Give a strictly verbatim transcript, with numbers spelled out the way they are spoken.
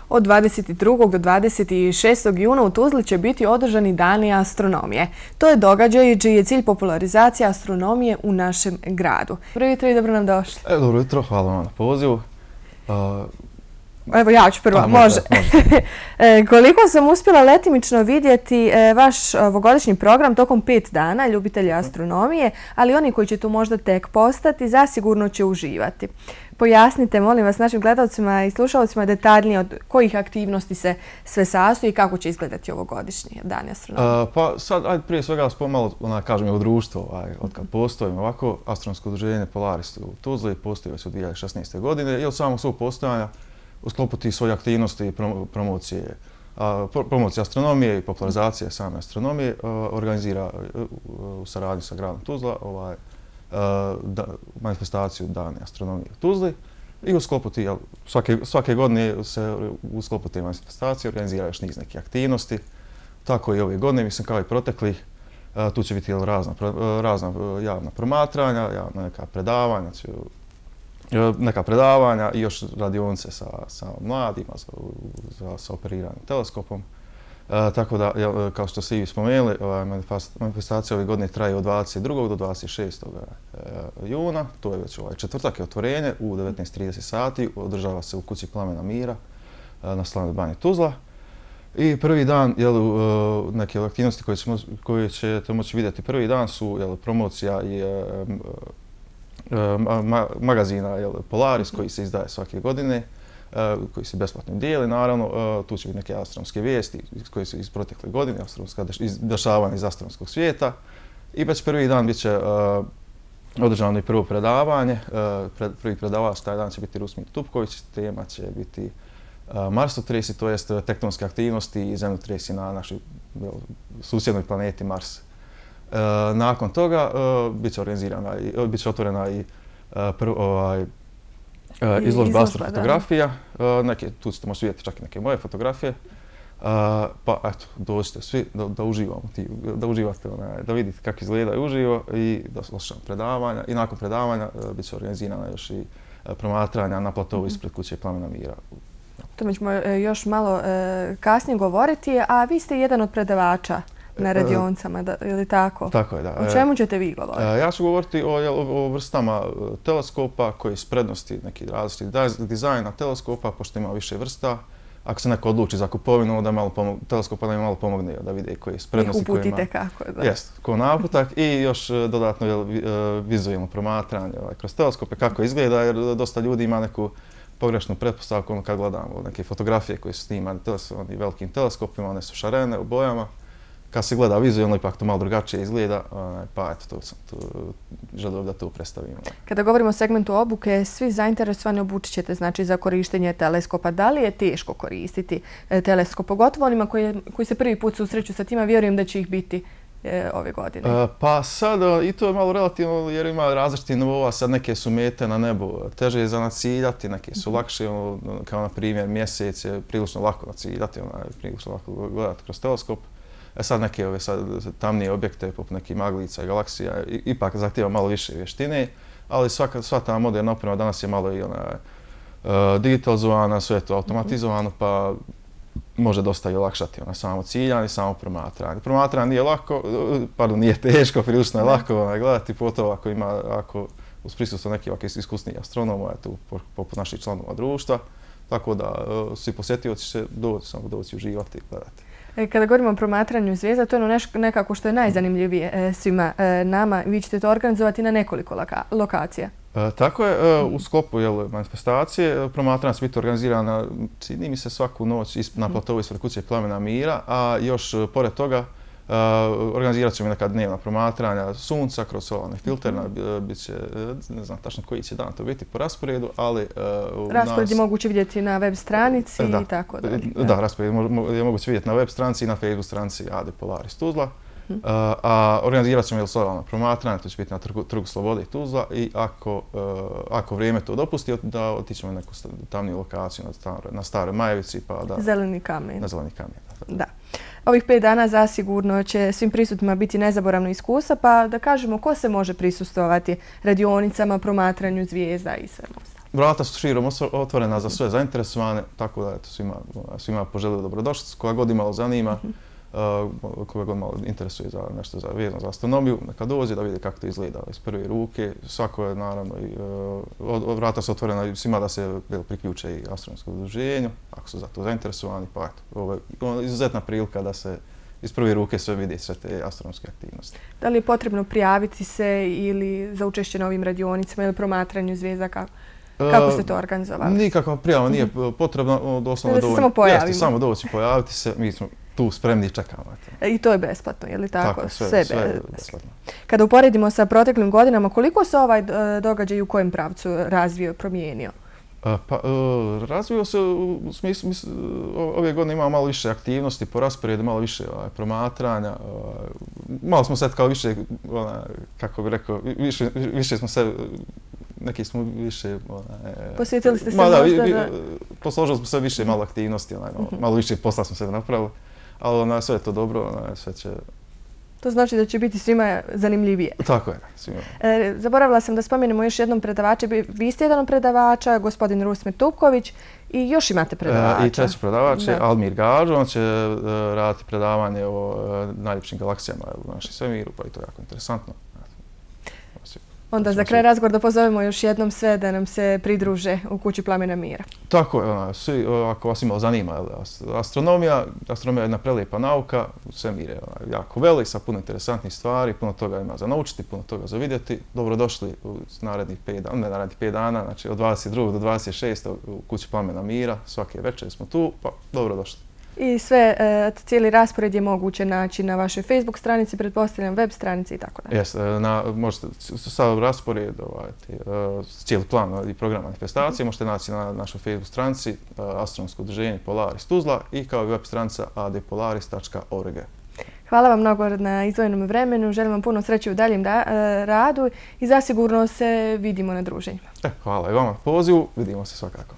Od dvadeset drugog do dvadeset šestog juna u Tuzli će biti održani dani astronomije. To je događaj čiji je cilj popularizacija astronomije u našem gradu. Dobro jutro i dobro nam došli. E, dobro jutro, hvala vam na pozivu. Uh, Evo ja ću prva, a, može. može. može. Koliko sam uspjela letimično vidjeti vaš ovogodišnji program tokom pet dana, ljubitelji astronomije, ali oni koji će tu možda tek postati, zasigurno će uživati. Pojasnite, molim vas, našim gledalcima i slušalcima detaljnije od kojih aktivnosti se sve sastoji i kako će izgledati ovogodišnji dani astronomije. Uh, pa sad, ajde prije svega pomalo, ona, kažem, u društvo, ovaj, od kad postojimo ovako, astronomsko udruženje Polaris u Tuzli postoji već od dvije tisuće šesnaeste. godine i od samog svog postojanja u sklopu tih svojih aktivnosti i promocije, promocije astronomije i popularizacije same astronomije organizira u saradnji sa gradom Tuzla ovaj, da, manifestaciju Dani astronomije u Tuzli i u sklopu tih, svake, svake godine se u sklopu te manifestacije organizira još niz nekih aktivnosti. Tako i ove godine, mislim kao i proteklih, tu će biti razna, razna javna promatranja, javna neka predavanja, neka predavanja i još radionice sa, sa mladima za, za, sa operiranjem teleskopom. E, tako da, kao što ste i spomenuli, manifestacija ove godine traje od dvadeset drugog do dvadeset šestog juna. To je već ovaj četvrtak, je otvorenje u devetnaest i trideset sati. Održava se u kući Plamena mira na Slavnoj banji Tuzla. I prvi dan, jel, neke aktivnosti koje, ćemo, koje ćete moći vidjeti prvi dan su jel, promocija i Ma, magazina jel, Polaris koji se izdaje svake godine, uh, koji se besplatno dijeli, naravno. Uh, tu će biti neke astronomske vijesti koje su iz protekle godine, astronomska dešavanja iz astronomskog svijeta. I već prvi dan bit će uh, održano i prvo predavanje. Uh, pred, prvi predavač taj dan će biti Rusmir Tupković, tema će biti uh, marsotresi, to jest tektonske aktivnosti i zemljotresi na našoj jel, susjednoj planeti Mars. Uh, nakon toga uh, bit će organizirana i bit će otvorena i uh, prv, ovaj, uh, izložba astrofotografija. Uh, neke, tu ćete možete vidjeti čak i neke moje fotografije. Uh, pa eto, dođite svi da, da uživamo, ti, da uživate, onaj, da vidite kako izgleda uživo i da slušamo predavanja. I nakon predavanja uh, bit će organizirana još i uh, promatranja na platovu mm-hmm. ispred kuće Plamena mira. O tome ćemo još malo uh, kasnije govoriti, a vi ste jedan od predavača na radionicama, da, je li tako? Tako je, da. O čemu ćete vi govoriti? Ja ću govoriti o, o, o vrstama teleskopa koji su prednosti neki različiti dizajna teleskopa, pošto ima više vrsta. Ako se neko odluči za kupovinu, da malo pomog, teleskopa da im malo pomogne da vide koji su prednosti. Ih uputite kako, da. Jest, ko naputak i još dodatno jel, vizualno promatranje ovaj, kroz teleskope, kako izgleda, jer dosta ljudi ima neku pogrešnu pretpostavku kad gledamo neke fotografije koje su snimane velikim teleskopima, one su šarene u bojama. Kad se gleda vizualno, ipak to malo drugačije izgleda, pa eto, to sam tu želio da to predstavimo. Kada govorimo o segmentu obuke, svi zainteresovani obučit ćete znači, za korištenje teleskopa. Da li je teško koristiti teleskop? Pogotovo onima koji, koji se prvi put susreću sa tima, vjerujem da će ih biti e, ove godine. E, pa sad, i to je malo relativno, jer ima različiti nivova, sad neke su mete na nebu, teže je za naciljati, neke su lakše, ono, kao na primjer mjesec je prilično lako naciljati, ono, prilično lako gledati kroz teleskop. E sad neke ove sad, tamnije objekte, poput nekih maglica i galaksija, i, ipak zahtijeva malo više vještine, ali svaka, sva ta moderna oprema danas je malo i ona, uh, digitalizovana, sve je to automatizovano, pa može dosta i olakšati ona, samo ciljanje i samo promatranje. Promatranje nije lako, pardon, nije teško, prilično je lako ona, gledati, pogotovo ako ima, ako uz prisustvo nekih ovakvih iskusnijih astronoma, tu poput naših članova društva, tako da uh, svi posjetioci će doći, samo doći uživati i gledati. Kada govorimo o promatranju zvijezda, to je ono nekako što je najzanimljivije e, svima e, nama. Vi ćete to organizovati na nekoliko loka lokacija. E, tako je, e, u sklopu jel, manifestacije promatranja će biti organizirana, čini mi se, svaku noć na platovu ispred kuće Plamena mira, a još pored toga Uh, organizirat ćemo neka dnevna promatranja sunca kroz solarne filterne, bit će, ne znam tačno koji će dan to biti po rasporedu, ali... Uh, raspored je moguće vidjeti na web stranici da, i tako dalje. Da, da raspored je moguće vidjeti na web stranici i na Facebook stranici A D Polaris Tuzla. Uh, a organizirat ćemo solarna promatranja, to će biti na trgu, trgu Slobode Tuzla i ako, uh, ako vrijeme to dopusti, da otićemo na neku tamniju lokaciju na, star, na Staroj Majevici. Pa da, Zeleni kamen. Na Zeleni kamen, da. Da. Ovih pet dana zasigurno će svim prisutnima biti nezaboravno iskustva, pa da kažemo ko se može prisustvovati radionicama, promatranju zvijezda i svemu. vrata su širom otvorena za sve zainteresovane, tako da eto, svima, svima poželio dobrodošlicu. Koga god imalo zanima, uh, koga god malo interesuje za nešto za, vezano za astronomiju, neka dođe da vidi kako to izgleda iz prve ruke. Svako je naravno, i, uh, vrata su otvorena svima da se priključe i astronomskom udruženju, ako su za to zainteresovani, pa eto, ovo je izuzetna prilika da se iz prve ruke sve vidi, sve te astronomske aktivnosti. Da li je potrebno prijaviti se ili za učešće na ovim radionicama ili promatranju zvijezda? Kako, kako ste to organizovali? Nikakva prijava nije potrebna, doslovno dovoljno. Samo pojavimo. Jeste, samo doći pojaviti se, mi smo tu spremni i čekamo. I to je besplatno, je li tako? Tako, sve, sve, sve je besplatno. Kada uporedimo sa proteklim godinama, koliko se ovaj događaj u kojem pravcu razvio, promijenio? Pa, razvio se u smislu, ove godine imamo malo više aktivnosti po rasporedu, malo više promatranja, malo smo sad kao više, kako bih rekao, više, više smo se, neki smo više... Posjetili ste se možda da... Posložili smo sve više malo aktivnosti, malo više posla smo se napravili, ali sve je to dobro, sve će... To znači da će biti svima zanimljivije. Tako je, svima. E, zaboravila sam da spomenemo još jednom predavača. Vi ste jedan od predavača, gospodin Rusmir Tupković, i još imate predavača. E, I treći predavač je Almir Gađo. On će e, raditi predavanje o e, najljepšim galaksijama u našem svemiru, pa i to je jako interesantno. Onda za kraj razgovor da pozovemo još jednom sve da nam se pridruže u Kući Plamena mira. Tako je, ona, svi, ako vas imalo zanima, astronomija, astronomija je jedna prelijepa nauka, svemir je jako velik, sa puno interesantnih stvari, puno toga ima za naučiti, puno toga za vidjeti. Dobrodošli u narednih pet dana, ne narednih pet dana, znači od dvadeset drugog do dvadeset šestog u Kući Plamena mira, svake večer smo tu, pa dobrodošli. I sve, e, cijeli raspored je moguće naći na vašoj Facebook stranici, pretpostavljam web stranici i tako dalje. Jes, na, možete, sav raspored, ovaj, cijeli plan i program manifestacije možete naći na našoj Facebook stranici Astronomsko udruženje Polaris Tuzla i kao i web stranica a d polaris tačka org. Hvala vam mnogo na izdvojenom vremenu, želim vam puno sreće u daljem da, e, radu i zasigurno se vidimo na druženjima. E, hvala i vama pozivu, vidimo se svakako.